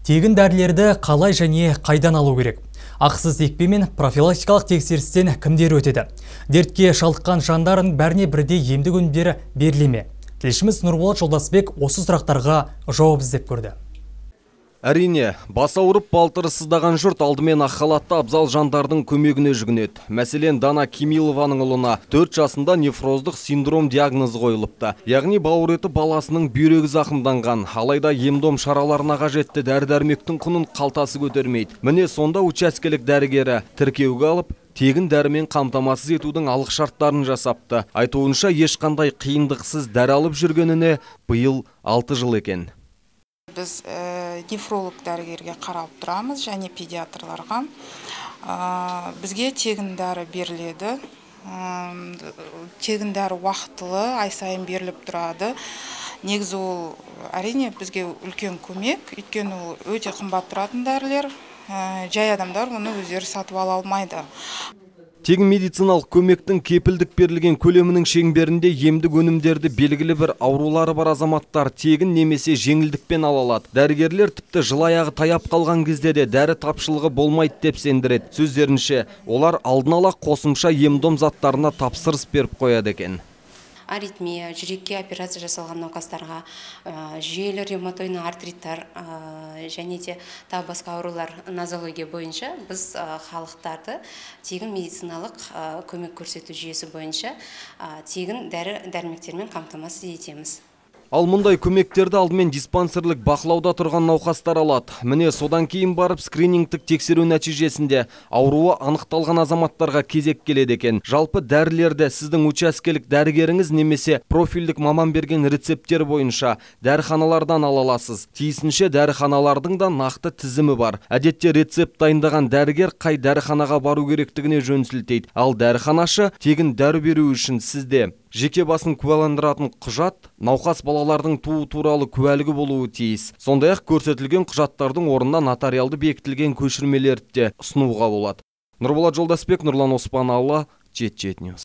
Тегін дәрілерді қалай және қайдан алу керек? Ақысыз екпе мен профилактикалық тексерістен кімдер өтеді? Дертке шалдыққан жандардың бәріне бірдей емдік өнімдері беріле ме? Тілшіміз Нұрболат Жолдасбек осы сұрақтарға жауап іздеп көрді. Әрине, бас ауырып балтыры сыздаған жұрт алдымен ақ халатты абзал жандардың көмегіне жүгінеді. Мәселен, Дана Кемилованың ұлына 4 жасында нефроздық синдром диагнозы қойылыпты. Яғни бауыр еті баласының бүйрегі зақымданған. Алайда ем-дом шараларына қажетті дәрі-дәрмектің құнын қалтасы көтермейді. Міне сонда учаскелік дәрігері тіркеуге алып, тегін дәрімен қамтамасыз етудің алғышарттарын жасапты. Айтуынша ешқандай қиындықсыз дәрі алып жүргеніне биыл 6 жыл екен. Біз нефролог дәрігерге қарап тұрамыз және педиатрларға. Бізге тегін дәрі беріледі. Тегін дәрі уақытылы ай сайын беріліп тұрады. Негізі ол әрине бізге үлкен көмек, өйткені ол өте қымбат тұратын дәрілер. Жай адамдар оны өздері сатып ала алмайды. Тегін медициналық көмектің кепілдік берілген көлемінің шеңберінде емдік өнімдерді белгілі бір аурулары бар азаматтар тегін немесе жеңілдікпен ала алады. Дәрігерлер тіпті жыл аяғы таяп қалған кезде де дәрі тапшылығы болмайды деп сендіреді. Сөздерінше, олар алдын ала қосымша ем-дом заттарына тапсырыс беріп қояды екен. Аритмия, жүрекке операция жасалған науқастарға, жүйелі ревматойный артриттар және де тағы басқа аурулар нозология бойынша біз халықтарды тегін медициналық көмек көрсету жүйесі бойынша тегін дәрі-дәрмектермен қамтамасыз етеміз. Ал мұндай көмектерді алдымен диспансерлік бақылауда тұрған науқастар алады. Міне содан кейін барып скринингтік тексеру нәтижесінде ауруы анықталған азаматтарға кезек келеді екен. Жалпы дәрілерді сіздің учаскелік дәрігеріңіз немесе профильдік маман берген рецепттер бойынша дәріханалардан ала аласыз. Тиісінше дәріханалардың да нақты тізімі бар. Әдетте рецепт дайындаған дәрігер қай дәріханаға бару керектігіне жөн сілтейді. Ал дәріханашы тегін дәрі беру үшін сізде жеке басын куәландыратын құжат, науқас балалардың туу туралы куәлігі болуы тиіс. Сондай-ақ көрсетілген құжаттардың орнына нотариалды бекітілген көшірмелерді де ұсынуға болады. Нұрболат Жолдасбек, Нұрлан Оспаналы, Jet News.